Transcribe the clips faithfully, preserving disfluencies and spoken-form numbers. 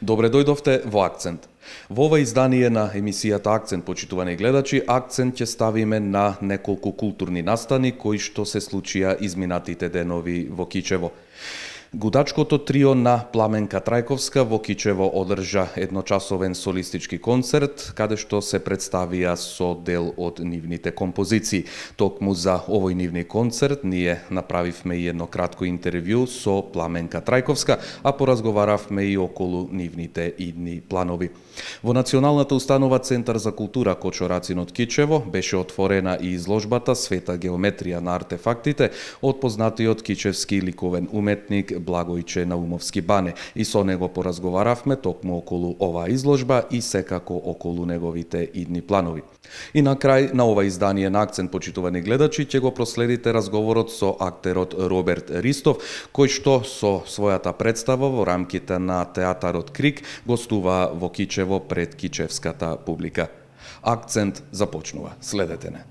Добре дојдовте во Акцент. Во ова издание на емисијата Акцент, почитувани гледачи, акцент ќе ставиме на неколку културни настани кои што се случија изминатите денови во Кичево. Гудачкото трио на Пламенка Трајковска во Кичево одржа едночасовен солистички концерт, каде што се представија со дел од нивните композиции. Токму за овој нивни концерт ние направивме и едно кратко интервју со Пламенка Трајковска, а поразговаравме и околу нивните идни планови. Во Националната установа Центар за култура Кочо Рацин од Кичево беше отворена и изложбата Света геометрија на артефактите од познатиот кичевски ликовен уметник Благојче Наумовски Бане, и со него поразговаравме токму околу оваа изложба и секако околу неговите идни планови. И на крај на ова издание на Акцент, почитувани гледачи, ќе го проследите разговорот со актерот Роберт Ристов, кој што со својата представа во рамките на театарот Крик гостува во Кичево пред кичевската публика. Акцент започнува. Следете не.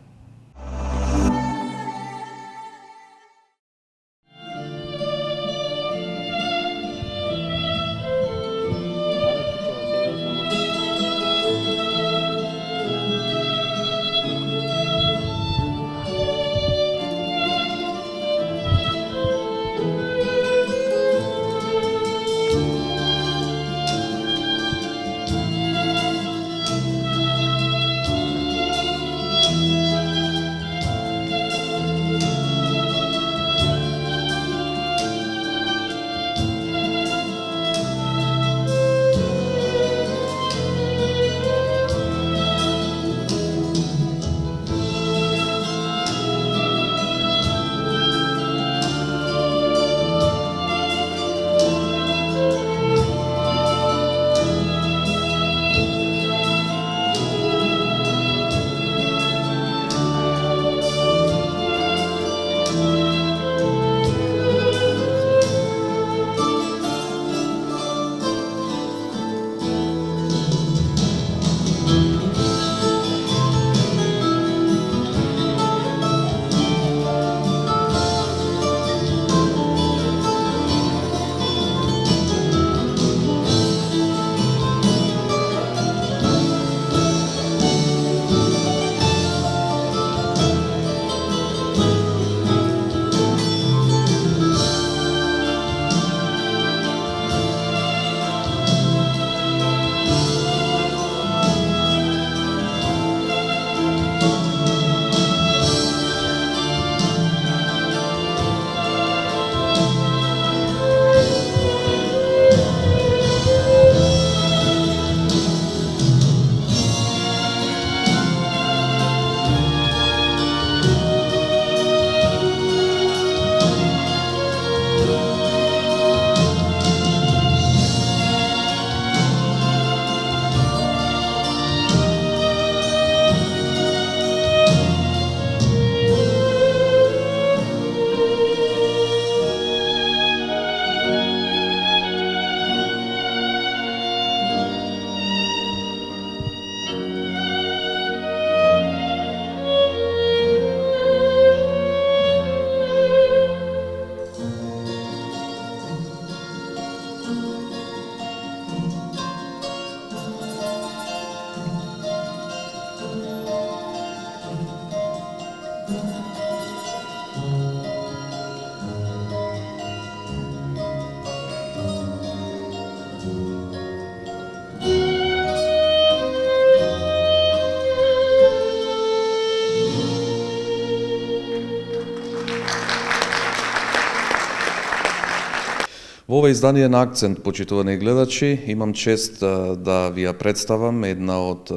Во ова издание на Акцент, почитувани гледачи, имам чест да ви ја представам една од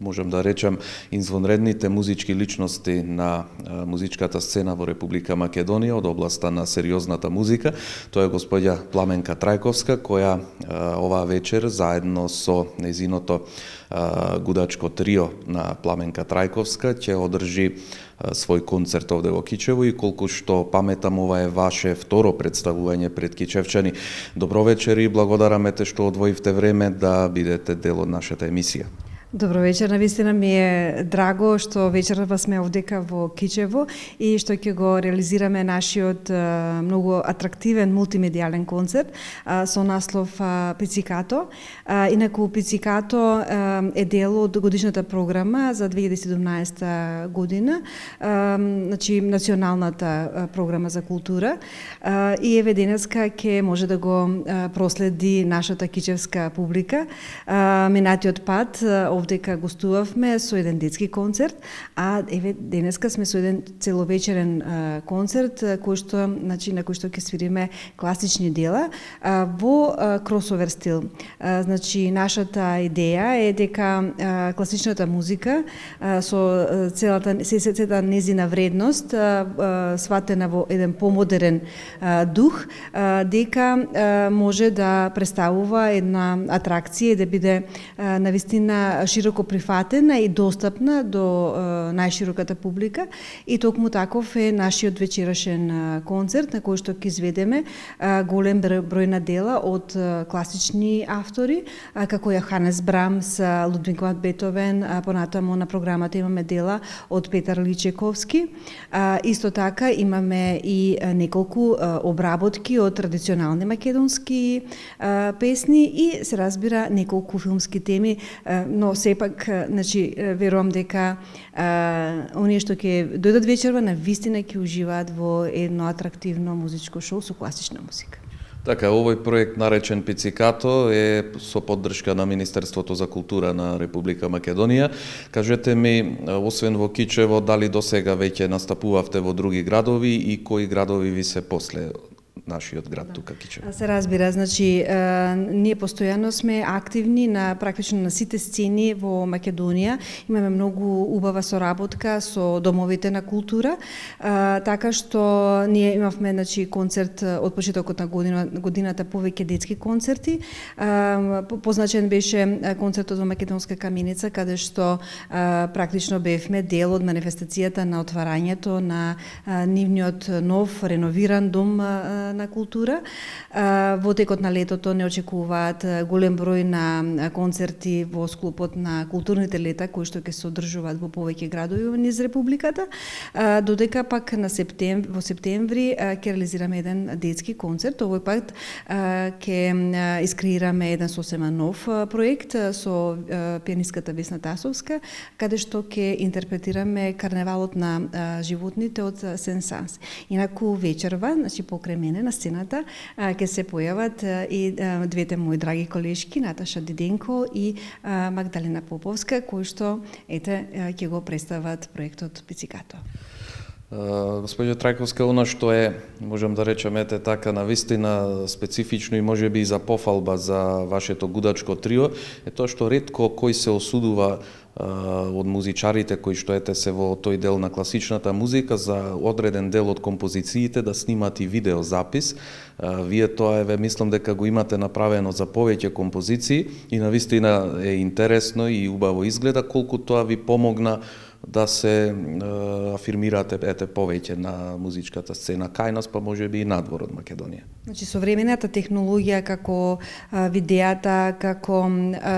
можем да речем, извонредните музички личности на музичката сцена во Република Македонија од областа на сериозната музика. Тоа е господја Пламенка Трајковска, која оваа вечер заедно со нејзиното гудачко трио на Пламенка Трајковска ќе одржи свој концерт овде во Кичево и колку што паметам, ова е ваше второ представување пред кичевчани. Добро вечер и благодараме те што одвоивте време да бидете дел од нашата емисија. Добро вечер, навистина ми е драго што вечерва сме овдека во Кичево и што ќе го реализираме нашиот многу атрактивен мултимедијален концерт со наслов Пицикато. Инаку Пицикато е дел од годишната програма за две илјади и седумнаесета година, значи националната програма за култура, и еве денеска ќе може да го проследи нашата кичевска публика. Минатиот пат овдека гостувавме со еден детски концерт, а еве денеска сме со еден целовечерен а, концерт кој што, значи, на кој што ќе свириме класични дела а, во а, кросовер стил. А, значи нашата идеја е дека а, класичната музика а, со целата сесецата незина вредност а, а, сватена во еден помодерен а, дух, а, дека а, може да представува една атракција и да биде а, навистина широко прифатена и достапна до е, најшироката публика, и токму таков е нашиот вечерашен е, концерт на кој што ќе изведеме е, голем број на дела од е, класични автори, е, како Јоханес Брамс, Лудвиг ван Бетовен, а понатаму на програмата имаме дела од Петар Личековски. Е, исто така имаме и неколку е, обработки од традиционални македонски е, песни и се разбира неколку филмски теми, е, но сепак, значи, верувам дека а, оние што ќе дојдат вечерва на вистина ќе уживаат во едно атрактивно музичко шоу со класична музика. Така, овој проект наречен Пицикато е со поддршка на Министерството за култура на Република Македонија. Кажете ми, освен во Кичево, дали досега веќе настапувавте во други градови и кои градови ви се после нашиот град, да, тука Кичево? Се разбира, значи е, ние постојано сме активни на практично на сите сцени во Македонија. Имаме многу убава соработка со домовите на култура, е, така што ние имавме, значи, концерт од почетокот на година, годината, повеќе детски концерти. Е, позначен беше концертот во Македонска каменица, каде што е, практично бевме дел од манифестацијата на отварањето на е, нивниот нов реновиран дом е, на култура. Во текот на летото не очекуваат голем број на концерти во склопот на културните лета кои што ќе се одржуваат во повеќе градови низ републиката, додека пак на септември, во септември ќе реализираме еден детски концерт. Овој пат ќе искреираме еден сосема нов проект со пианистката Весна Тасовска, каде што ќе интерпретираме карневалот на животните од Сен-Санс. Инаку вечерва, значи покрај мене на сцената ќе се појават и двете мои драги колешки, Наташа Диденко и Магдалена Поповска, кои што ете ќе го представат проектот Пицикато. Господјо Трајковска, она што е, можем да речеме, ете така навистина специфично и можеби и за пофалба за вашето гудачко трио, е тоа што ретко кој се осудува од музичарите кои што ете се во тој дел на класичната музика за одреден дел од композициите да снимат и видеозапис. Вие тоа еве мислам дека го имате направено за повеќе композиции и навистина е интересно и убаво изгледа. Колку тоа ви помогна да се е, афирмирате ете повеќе на музичката сцена кај нас, па можеби и надвор од Македонија? Значи современата технологија, како а, видеата, како а,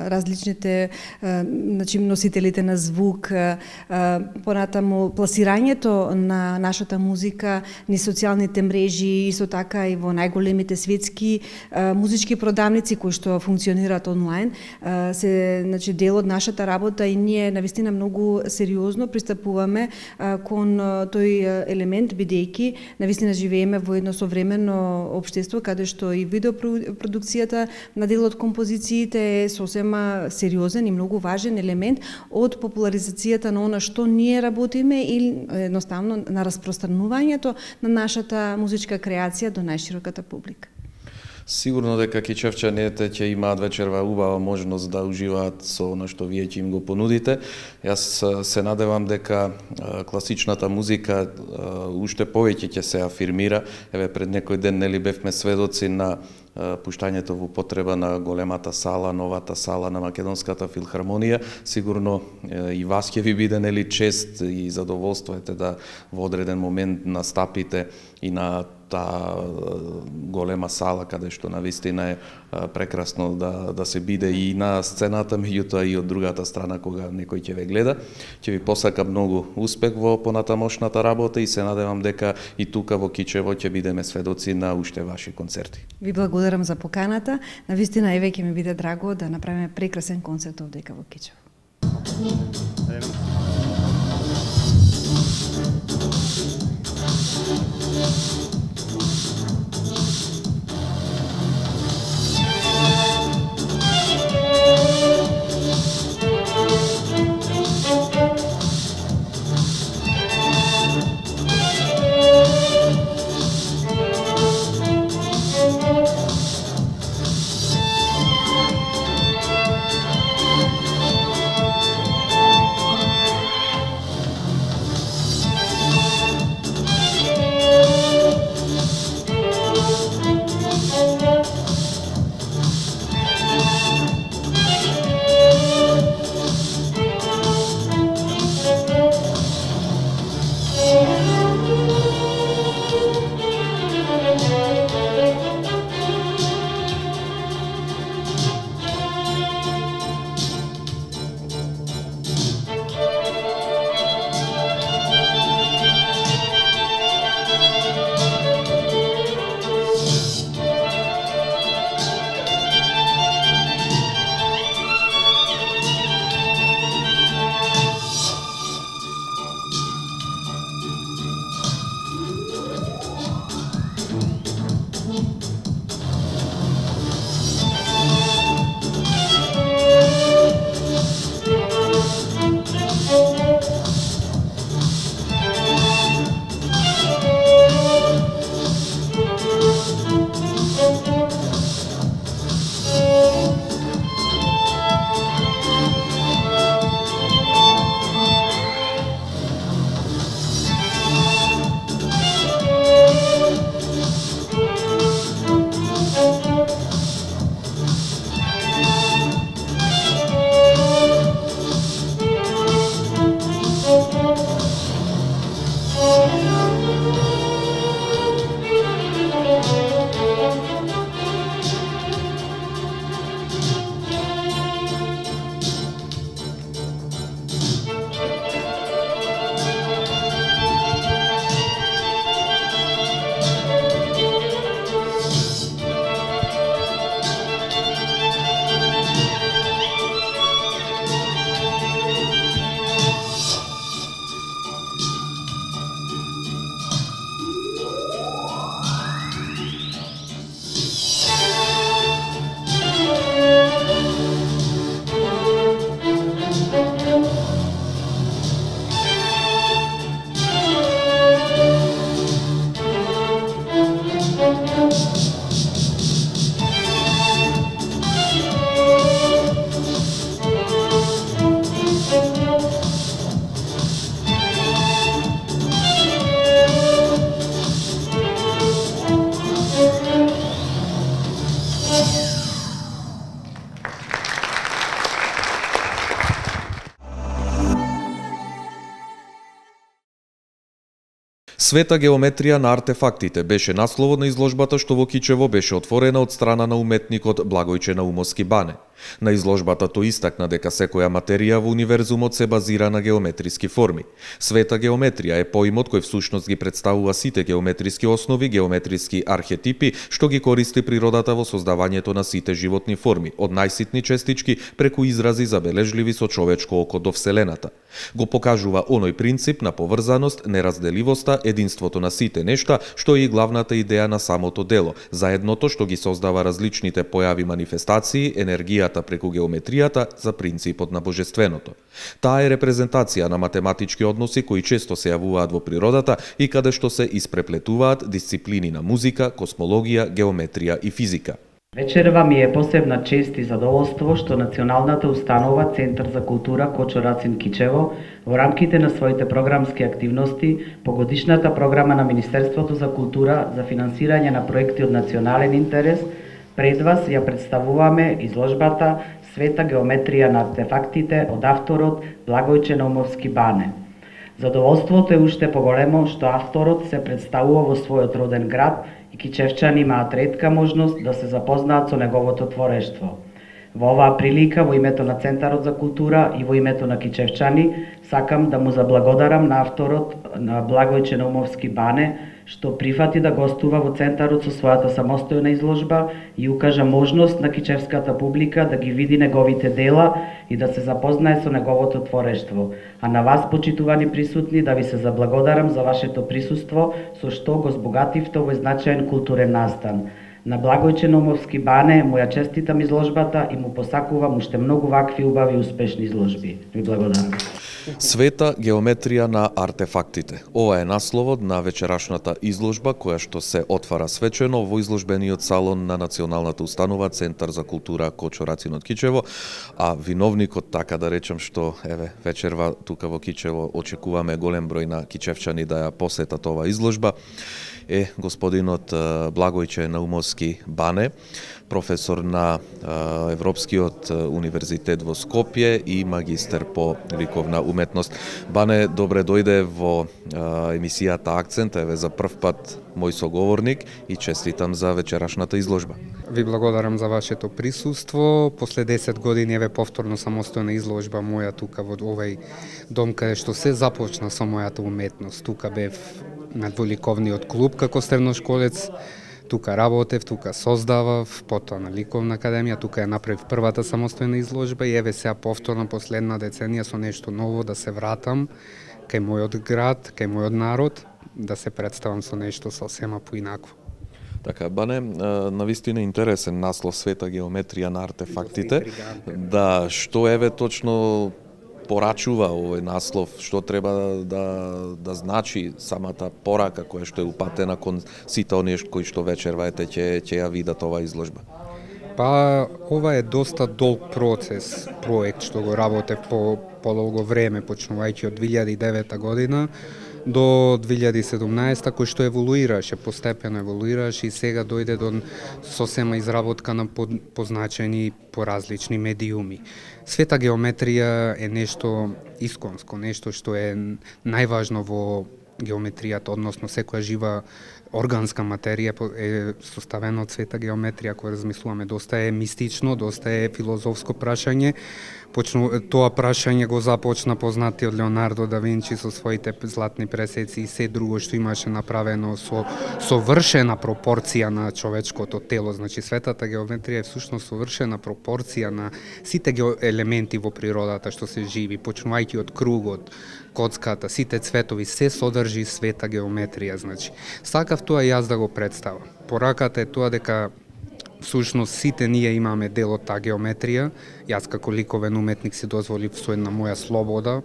различните а, значи носителите на звук, а, понатаму пласирањето на нашата музика низ социјалните мрежи, исто така и во најголемите светски а, музички продавници кои што функционираат онлайн, а, се значи дел од нашата работа и ние навистина многу сериозно пристапуваме а, кон а, тој елемент, бидејќи навистина живееме во едно современо општество каде што и видеопродукцијата на дел од композициите е сосема сериозен и многу важен елемент од популаризацијата на она што ние работиме или едноставно на распространувањето на нашата музичка креација до најшироката публика. Сигурно дека кичевчаните ќе имаат вечерва убава можност да уживаат со она што вие ќе им го понудите. Јас се надевам дека класичната музика уште повеќе ќе се афирмира. Еве пред некој ден нели бевме сведоци на пуштањето во употреба на големата сала, новата сала на Македонската филхармонија. Сигурно и вас ќе ви биде нели чест и задоволство ете да во одреден момент настапите и на таа голема сала каде што навистина е прекрасно да да се биде и на сцената, меѓутоа и од другата страна кога некој ќе ве гледа. Ќе ви посакам многу успех во понатамошната работа и се надевам дека и тука во Кичево ќе бидеме сведоци на уште ваши концерти. Ви благодарам за поканата. Навистина еве ќе ми биде драго да направиме прекрасен концерт овдека во Кичево. Света геометрија на артефактите беше насловот на изложбата што во Кичево беше отворена од страна на уметникот Благојче Наумовски Бане. На изложбата тој истакна дека секоја материја во универзумот се базира на геометриски форми. Света геометрија е поимот кој всушност ги представува сите геометриски основи, геометриски архетипи што ги користи природата во создавањето на сите животни форми, од најситни честички преку изрази забележливи со човечко око до вселената. Го покажува оној принцип на поврзаност, неразделивоста, единството на сите нешта, што е и главната идеја на самото дело, заедното што ги создава различните појави манифестации, енергијата преку геометријата за принципот на божественото. Таа е репрезентација на математички односи кои често се јавуваат во природата и каде што се испреплетуваат дисциплини на музика, космологија, геометрија и физика. Вечерва ми е посебна чест и задоволство што Националната установа Центар за култура Кочо Рацин Кичево во рамките на своите програмски активности по годишната програма на Министерството за култура за финансирање на проекти од национален интерес пред вас ја представуваме изложбата Света геометрија на артефактите од авторот Благојче Наумовски Бане. Задоволството е уште поголемо што авторот се представува во својот роден град и кичевчани имаат ретка можност да се запознаат со неговото творештво. Во оваа прилика, во името на Центарот за култура и во името на кичевчани, сакам да му заблагодарам на авторот на Благојче Наумовски Бане, што прифати да гостува во Центарот со својата самостојна изложба и укажа можност на кичевската публика да ги види неговите дела и да се запознае со неговото творештво. А на вас, почитувани присутни, да ви се заблагодарам за вашето присуство, со што го збогативте овој значаен културен настан. На Благојче Наумовски Бане му ја честитам изложбата и му посакувам уште многу вакви убави и успешни изложби. Ви благодарам. Света геометрија на артефактите. Ова е насловот на вечерашната изложба која што се отвара свечено во изложбениот салон на Националната установа Центар за култура Кочо Рацин од Кичево, а виновникот, така да речем, што еве вечерва тука во Кичево очекуваме голем број на кичевчани да ја посетат оваа изложба, е господинот Благојче Наумовски Бане, професор на Европскиот универзитет во Скопје и магистер по ликовна уметност. Бане, добре дојде во емисијата Акцент, еве за прв пат мој соговорник и честитам за вечерашната изложба. Ви благодарам за вашето присуство. После десет години еве повторно самостојна изложба моја тука во овој дом каде што се започна со мојата уметност. Тука бев на дволиковниот клуб како средношколец. Тука работев, тука создавав, потоа на ликовна академија, тука ја направив првата самостојна изложба и еве сега повторно последна деценија со нешто ново да се вратам кај мојот град, кај мојот народ, да се представам со нешто сосема поинакво. Така, Бане, навистина интересен наслов Света геометрија на артефактите. Да, што еве точно порачува овој наслов, што треба да, да значи самата порака која што е упатена кон сите оние кои што вечерва ете ќе ќе ја видат оваа изложба? Па, ова е доста долг процес, проект што го работев по подолго време, почнувајќи од две илјади и девета година до две илјади и седумнаесета, кој што еволуираше, постепено еволуираше и сега дојде до сосема изработка на позначени по различни медиуми. Света геометрија е нешто исконско, нешто што е најважно во геометријата, односно секоја жива органска материја е составена од света геометрија, која размислуваме, доста е мистично, доста е филозофско прашање. Почну, тоа прашање го започна познатиот Леонардо да Винчи со своите златни пресеци и се друго што имаше направено со совршена пропорција на човечкото тело. Значи светата геометрија е всушност совршена пропорција на сите елементи во природата што се живи, почнувајќи од кругот, коцката, сите цветови, се содржи света геометрија. Значи, сакав тоа јас да го представам. Пораката е тоа дека всушност сите ние имаме дел од таа геометрија. Јас како ликовен уметник си дозволив со една моја слобода,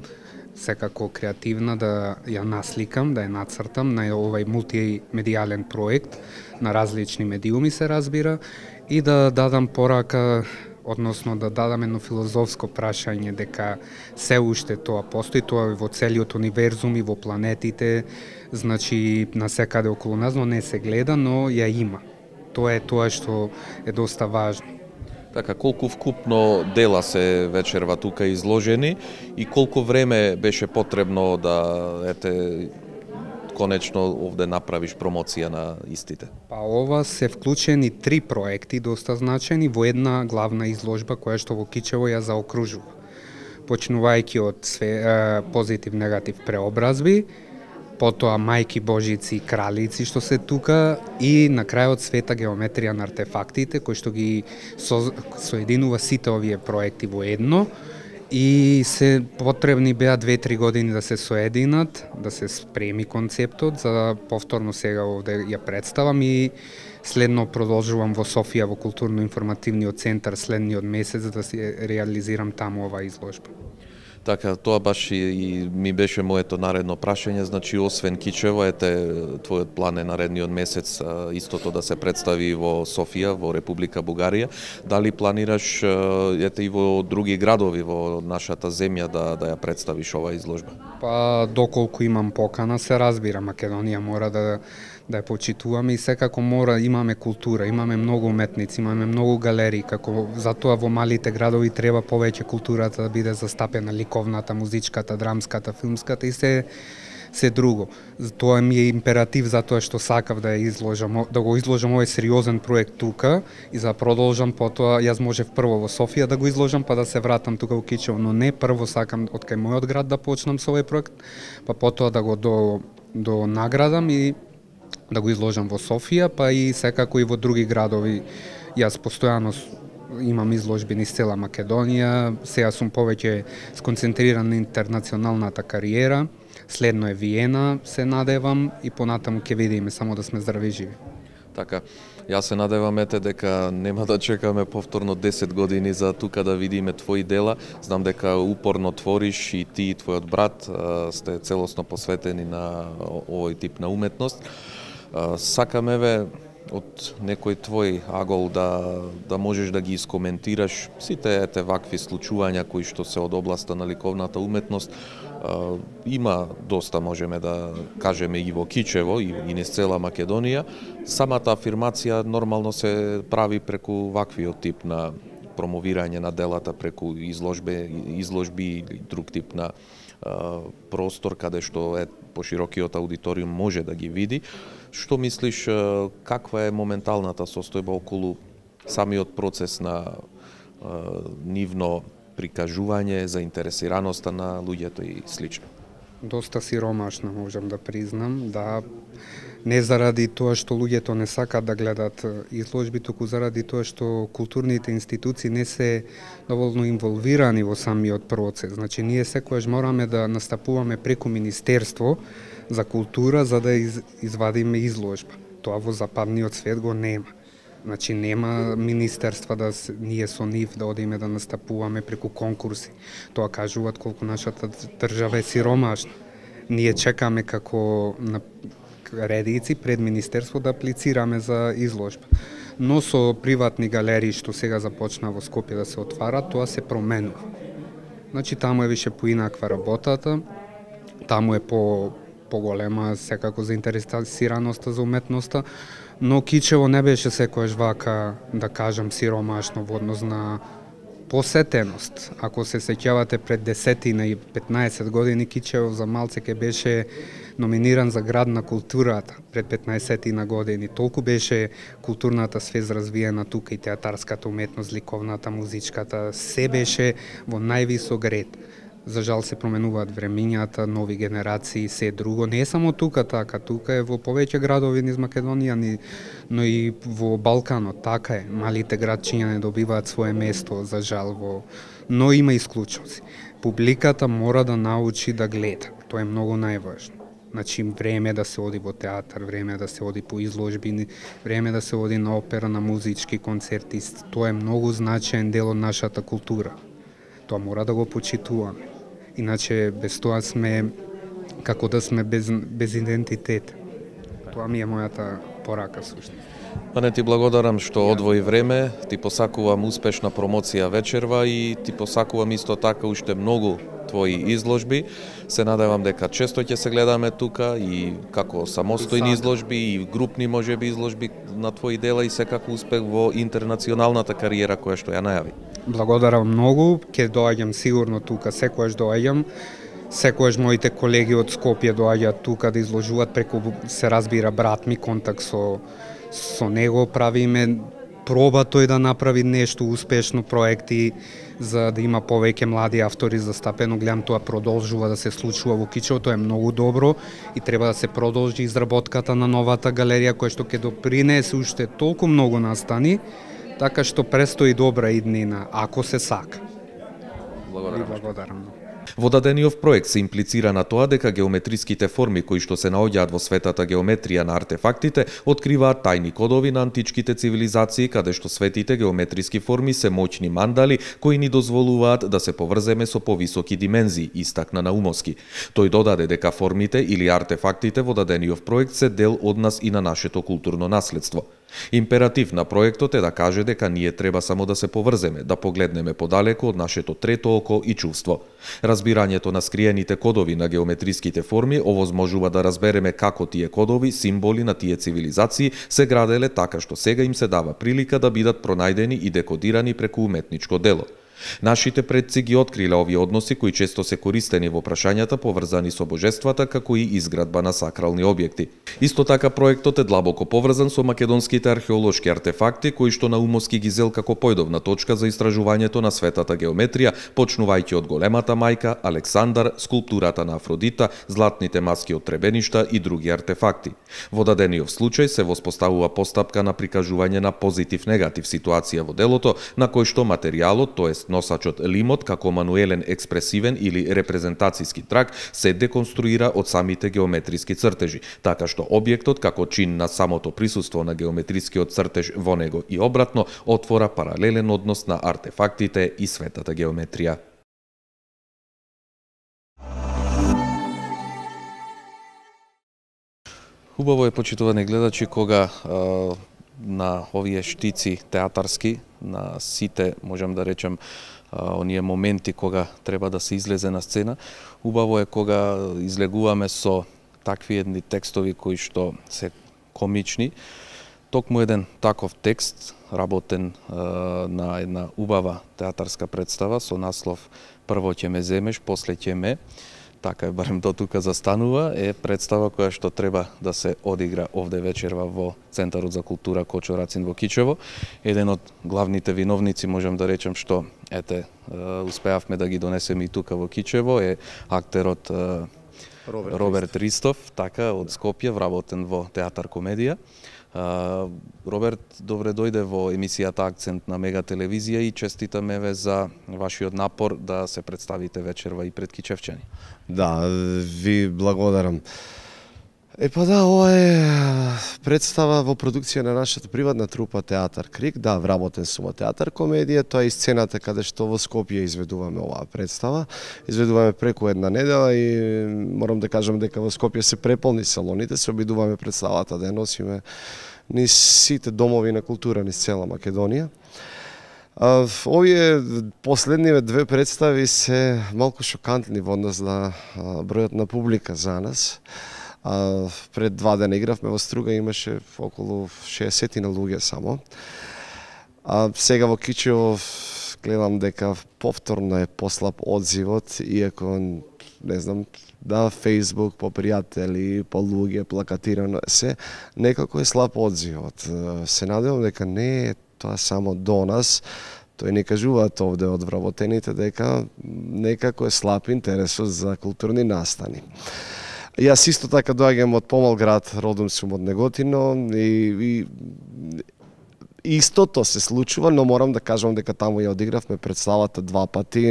секако креативна, да ја насликам, да ја нацртам на овај мултимедијален проект на различни медиуми, се разбира, и да дадам порака, односно да дадам едно филозофско прашање дека се уште тоа постои, тоа во целиот универзум и во планетите, значи на секаде околу нас, но не се гледа, но ја има. Тоа е тоа што е доста важно. Така, колку вкупно дела се вечерва тука изложени и колку време беше потребно да ете конечно овде направиш промоција на истите? Па ова се вклучени три проекти доста значени во една главна изложба која што во Кичево ја заокружува. Почнувајќи од све, позитив, негатив преобразби, потоа мајки Божици и кралици што се тука и на крајот света геометрија на артефактите кој што ги со, соединува сите овие проекти во едно И се потребни беа две-три години да се соединат, да се спреми концептот, за повторно сега овде ја представам и следно продолжувам во Софија во културно-информативниот центар следниот месец да се реализирам таму оваа изложба. Така, тоа баш и, и ми беше моето наредно прашање, значи освен Кичево, ете твојот план е наредниот месец а, истото да се представи во Софија, во Република Бугарија. Дали планираш ете и во други градови во нашата земја да да ја представиш оваа изложба? Па доколку имам покана, се разбира, Македонија мора да да ја почитуваме и секако мора, имаме култура, имаме многу уметници, имаме многу галерии, како затоа во малите градови треба повеќе културата да биде застапена, ликовната, музичката, драмската, филмската и се се друго. Тоа ми е императив затоа што сакав да ја изложам, да го изложам овој сериозен проект тука и за продолжам потоа, јас можев прво во Софија да го изложам па да се вратам тука во Кичево, но не, прво сакам од кај мојот град да почнам со овој проект, па потоа да го до до наградам и да го изложам во Софија, па и секако и во други градови. Јас постојано имам изложби низ цела Македонија, сега сум повеќе сконцентриран на интернационалната кариера, следно е Виена, се надевам и понатаму ќе видиме, само да сме здрави и живи. Така, јас се надевам ете дека нема да чекаме повторно десет години за тука да видиме твои дела. Знам дека упорно твориш и ти и твојот брат сте целосно посветени на овој тип на уметност. Сакаме ве од некој твој агол да да можеш да ги искоментираш сите ете вакви случувања кои што се од областа на ликовната уметност. Има доста, можеме да кажеме, и во Кичево и, и низ цела Македонија. Самата афирмација нормално се прави преку ваквиот тип на промовирање на делата, преку изложбе, изложби или друг тип на простор каде што е поширокиот аудиториум може да ги види. Што мислиш, каква е моменталната состојба околу самиот процес на нивно прикажување, заинтересираноста на луѓето и слично? Доста сиромашна, можам да признам, да, не заради тоа што луѓето не сакаат да гледат изложби, туку заради тоа што културните институции не се доволно инволвирани во самиот процес. Значи, ние секогаш мораме да настапуваме преку Министерство за култура за да из, извадиме изложба. Тоа во западниот свет го нема. Значи, нема министерства да с, ние со нив да одиме да настапуваме преку конкурси. Тоа кажуваат колку нашата држава е сиромашна. Ние чекаме како на редици пред министерство да аплицираме за изложба. Но со приватни галерии што сега започна во Скопје да се отварат, тоа се променува. Значи, таму е више поинаква работата, таму е по поголема секако заинтересираноста за уметноста, но Кичево не беше секојаш вака, да кажам, сиромашно во однос на посетеност. Ако се сеќавате пред десетина и петнаесет години, Кичево за малце ке беше номиниран за град на културата пред петнаесетина години. Толку беше културната свест развиена тука и театарската уметност, ликовната, музичката, се беше во највисок ред. За жал се променуваат времињата, нови генерации, се друго. Не е само тука така, тука е во повеќе градови низ Македонија, но и во Балканот, така е. Малите градчиња не добиваат свое место, за жал, во... но има исклучоци. Публиката мора да научи да гледа, тоа е многу најважно. Значи, време да се оди во театар, време да се оди по изложби, време да се оди на опера, на музички концерти, тоа е многу значаен дел од нашата култура. Тоа мора да го почитуваме. Иначе без тоа сме како да сме без, без идентитет. Тоа ми е мојата порака всушност. Па не ти благодарам што одвои време, ти посакувам успешна промоција вечерва и ти посакувам исто така уште многу твои изложби. Се надевам дека често ќе се гледаме тука и како самостојни изложби и групни можеби изложби на твои дела и секако успех во интернационалната кариера која што ја најави. Благодарам многу, ќе доаѓам сигурно тука, секогаш доаѓам. Секогаш моите колеги од Скопје доаѓаат тука да изложуваат, преку се разбира брат ми, контакт со со него правиме, проба тој да направи нешто успешно, проекти за да има повеќе млади автори застапено. Гледам тоа продолжува да се случува во Кичево, тоа е многу добро и треба да се продолжи изработката на новата галерија која што ќе допринесе уште толку многу настани, така што престои добра иднина, ако се сака. Благодарам. Благодарам. Во дадениот проект се имплицира на тоа дека геометриските форми кои што се наоѓаат во светата геометрија на артефактите откриваат тајни кодови на античките цивилизации, каде што светите геометриски форми се моќни мандали кои ни дозволуваат да се поврземе со повисоки димензии, истакна Наумовски. Тој додаде дека формите или артефактите во дадениот проект се дел од нас и на нашето културно наследство. Императив на проектот е да каже дека ние треба само да се поврземе, да погледнеме подалеку од нашето трето око и чувство. Разбирањето на скриените кодови на геометриските форми овозможува да разбереме како тие кодови, символи на тие цивилизации се граделе така што сега им се дава прилика да бидат пронајдени и декодирани преку уметничко дело. Нашите предци ги откриле овие односи кои често се користени во прашањата поврзани со божествата како и изградба на сакрални објекти. Исто така проектот е длабоко поврзан со македонските археолошки артефакти кои што Наумовски ги зел како појдовна точка за истражувањето на светата геометрија, почнувајќи од големата мајка, Александар, скулптурата на Афродита, златните маски од требеништа и други артефакти. Во дадениот случај се воспоставува постапка на прикажување на позитив-негатив ситуација во делото, на кој што материјалот, тоест носачот лимот како мануелен експресивен или репрезентацијски трак се деконструира од самите геометриски цртежи, така што објектот како чин на самото присуство на геометрискиот цртеж во него и обратно отвора паралелен однос на артефактите и светата геометрија. Убаво е, почитувани гледачи, кога а, на овие штици театарски, на сите, можам да речем, а, оние моменти кога треба да се излезе на сцена, убаво е кога излегуваме со такви едни текстови кои што се комични. Токму еден таков текст, работен а, на една убава театарска представа со наслов "Прво ќе ме земеш, после ќе ме", така е, барем до тука застанува, е представа која што треба да се одигра овде вечерва во Центарот за култура Кочо Рацин во Кичево. Еден од главните виновници, можам да речем, што ете успеавме да ги донесеме и тука во Кичево, е актерот Роберт, Роберт Ристов, така, од Скопје, вработен во театар комедија. Uh, Роберт, добре дојде во емисијата Акцент на Мега телевизија и честитаме ве за вашиот напор да се представите вечерва и пред кичевчани. Да, ви благодарам. Е па да, ова е представа во продукција на нашата приватна трупа Театар Крик. Да, вработен сум во театар комедија, тоа е и сцената каде што во Скопје изведуваме оваа представа. Изведуваме преку една недела и морам да кажам дека во Скопје се преполни салоните, се обидуваме представата да ја носиме низ сите домови на култура низ цела Македонија. Овие последниве две представи се малку шокантни во однос на бројот на публика за нас. А, пред два дена игравме во Струга, имаше околу шеесет на луѓе само. А сега во Кичево гледам дека повторно е послаб одзивот, иако не знам, да, Facebook, по пријатели, по луѓе, плакатирано се, некако е слаб одзивот. Се надевам дека не е тоа само до нас, тој не кажуваат овде од вработените дека некако е слаб интересот за културни настани. Јас исто така доаѓам од помал град, родом сум од Неготино и, и истото се случува, но морам да кажам дека таму ја одигравме представата два пати,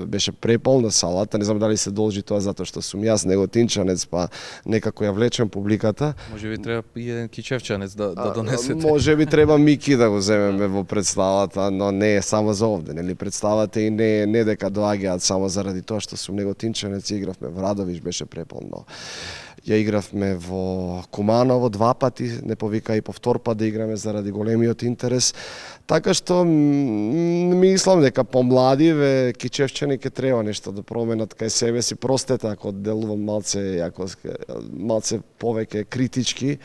беше преполна салата, не знам дали се должи тоа затоа што сум јас неготинчанец, па некако ја влечем публиката. Може би треба и еден кичевчанец да, да донесете. Може би треба Мики да го земеме во представата, но не е само за овде, нели представата и не не дека доаѓаат само заради тоа што сум неготинчанец, игравме во Радовиш, беше преполно. Ја игравме во Куманово два пати, не повика и повтор пат да играме заради големиот интерес. Така што мислам дека помладиве кичевчани ќе треба нешто да променат кај себе си. Простете ако делувам малце, ако малце повеќе критички,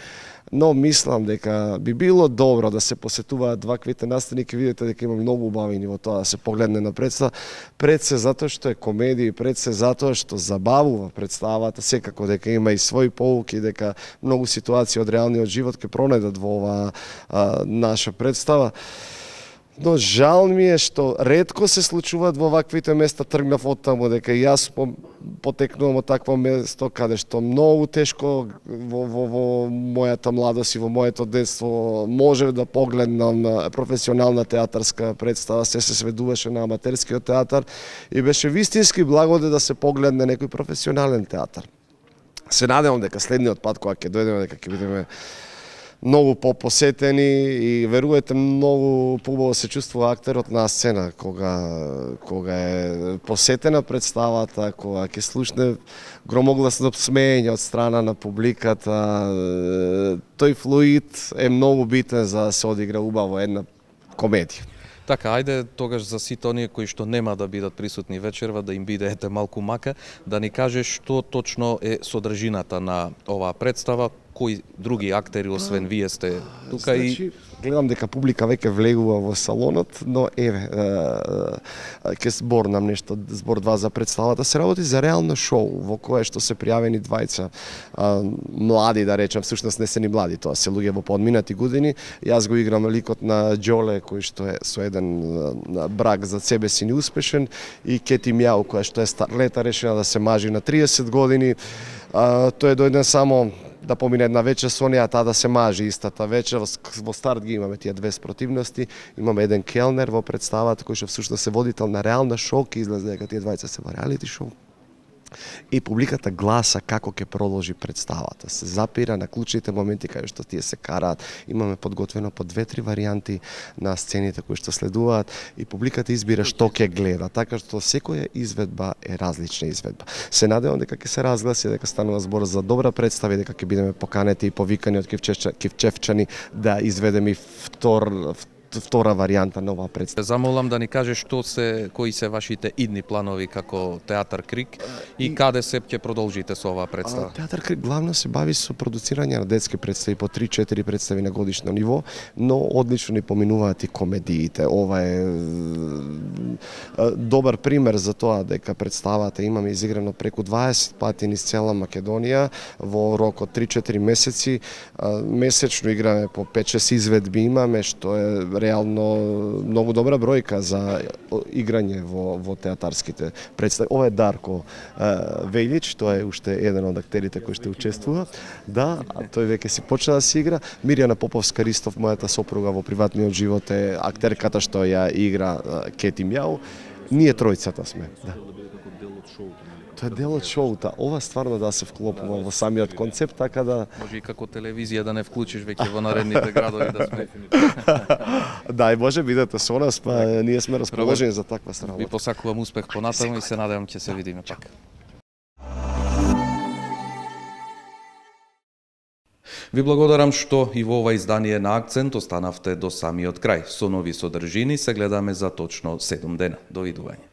но мислам дека би било добро да се посетуваат ваквите настани, ќе видите дека има многу убавини во тоа да се погледне на представа. Пред се затоа што е комедија, пред се затоа што забавува представата, секако дека има и своји поуки, дека многу ситуации од реалниот живот ќе пронајдат во оваа а, наша представа. Но жал ми е што ретко се случуваат во ваквите места. Тргнав од таму дека и јас по, потекнувам од такво место каде што многу тешко во, во, во мојата младост и во моето детство можев да погледнам професионална театарска представа, се се сведуваше на аматерскиот театар и беше вистински благодет да се погледне некој професионален театар. Се надевам дека следниот пат кога ќе дојдеме дека ќе бидеме многу попосетени и верувате многу побаво се чувствува актерот на сцена кога кога е посетена представата, кога ќе слушне громогласно смеење од страна на публиката. Тој флуид е многу битен за да се одигра убаво една комедија. Така, ајде тогаш за сите оние кои што нема да бидат присутни вечерва, да им биде ете малку мака, да ни кажеш што точно е содржината на оваа представа, кои други актери освен вие сте тука. Значи, и гледам дека публика веќе влегува во салонот, но еве ќе зборнам нешто, збор два за представата. Се работи за реално шоу во кое што се пријавени двајца а, млади, да речам, всушност не се ни млади, тоа се луѓе во подминати години. Јас го играм ликот на Џоле кој што е со еден а, брак за себе си неуспешен, и Кети Мјау која што е старлета решена да се мажи на триесет години. А, тој е дојден само да помине една вечер со неа, таа да се мажи истата вечер. Во старт ги имаме тие две спротивности. Имаме еден келнер во представата кој што всушност се водител на реална шоу, ќе излезе дека тие двајца се во реалити шоу. И публиката гласа како ќе продолжи представата. Се запира на клучните моменти каде што тие се караат. Имаме подготвено по две-три варијанти на сцените кои што следуваат и публиката избира што ќе гледа, така што секоја изведба е различна изведба. Се надевам дека ќе се разгласи, дека станува збор за добра представа и дека ќе бидеме поканети и повикани од Кивчевчани да изведеме втор втора варијанта на оваа представа. Замолам да ни кажеш што се, кои се вашите идни планови како Театар Крик и, и каде се ќе продолжите со оваа представа? Театар Крик главно се бави со продуцирање на детски представи, по три-четири представи на годишно ниво, но одлично ни поминуваат и комедиите. Ова е добар пример за тоа дека представата имаме изиграно преку дваесет пати низ цела Македонија во рок од три-четири месеци. Месечно играме по пет-шест изведби имаме, што е реално многу добра бројка за играње во, во театарските представи. Ова е Дарко Велич, тоа е уште еден од актерите кој ще учествува. Да, тој веќе си почна да си игра. Мирјана Поповска Ристов, мојата сопруга во приватниот живот, е актерката што ја игра Кети Мјау. Ние тројцата сме. Да. Тоа е дел од шоута. Ова стварно да се вклопува во самиот концепт, така да може и како телевизија да не вклучиш веќе во наредните градови да сме. Да, и може бидете со нас, па ние сме расположени за таква сработа. Ви посакувам успех понатаму и се надевам ќе се видиме пак. Ви благодарам што и во ова издание на Акцент останавте до самиот крај. Со нови содржини се гледаме за точно седум дена. Довидување.